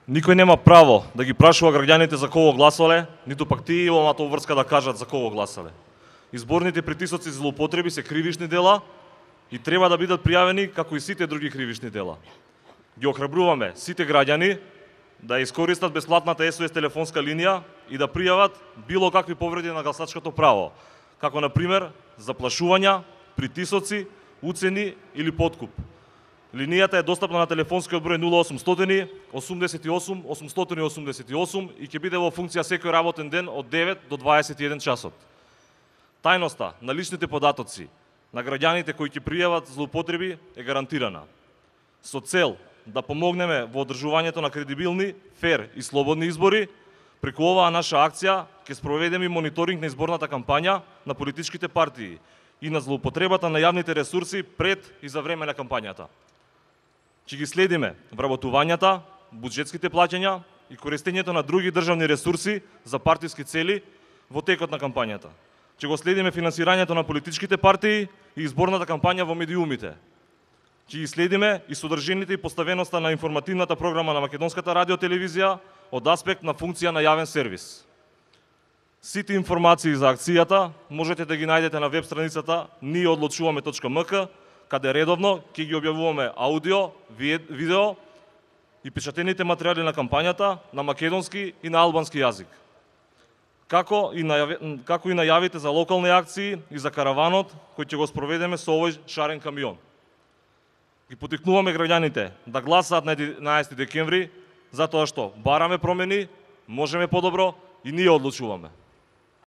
Никој нема право да ги прашува граѓаните за кого гласале, ниту пак тие имаат обврска да кажат за кого гласале. Изборните притисоци за злоупотреби се кривишни дела и треба да бидат пријавени како и сите други кривишни дела. Ги охрабруваме сите граѓани да искористат бесплатната SOS телефонска линија и да пријават било какви повреди на гласачкото право, како на пример заплашувања, притисоци, уцени или подкуп. Линијата е достапна на телефонскиот број 0800 88 888 и ќе биде во функција секој работен ден од 9 до 21 часот. Тајноста на личните податоци на граѓаните кои ќе пријават злоупотреби е гарантирана. Со цел да помогнеме во одржувањето на кредибилни, фер и слободни избори, преку оваа наша акција ќе спроведеме мониторинг на изборната кампања на политичките партии и на злоупотребата на јавните ресурси пред и за време на кампањата. Ќе ги следиме вработувањата, буџетските плаќања и користењето на други државни ресурси за партиски цели во текот на кампањата. Ќе го следиме финансирањето на политичките партии и изборната кампања во медиумите. Ќе ги следиме и содржините и поставеноста на информативната програма на Македонската радиотелевизија од аспект на функција на јавен сервис. Сите информации за акцијата можете да ги најдете на веб страницата nieoodlučuvame.mk, каде редовно ќе ги објавуваме аудио, видео и печатените материјали на кампањата на македонски и на албански јазик. Како и најавите за локални акции и за караванот кој ќе го спроведеме со овој шарен камион. Ги потикнуваме граѓаните да гласаат на 11 декември, затоа што бараме промени, можеме подобро и ние одлучуваме.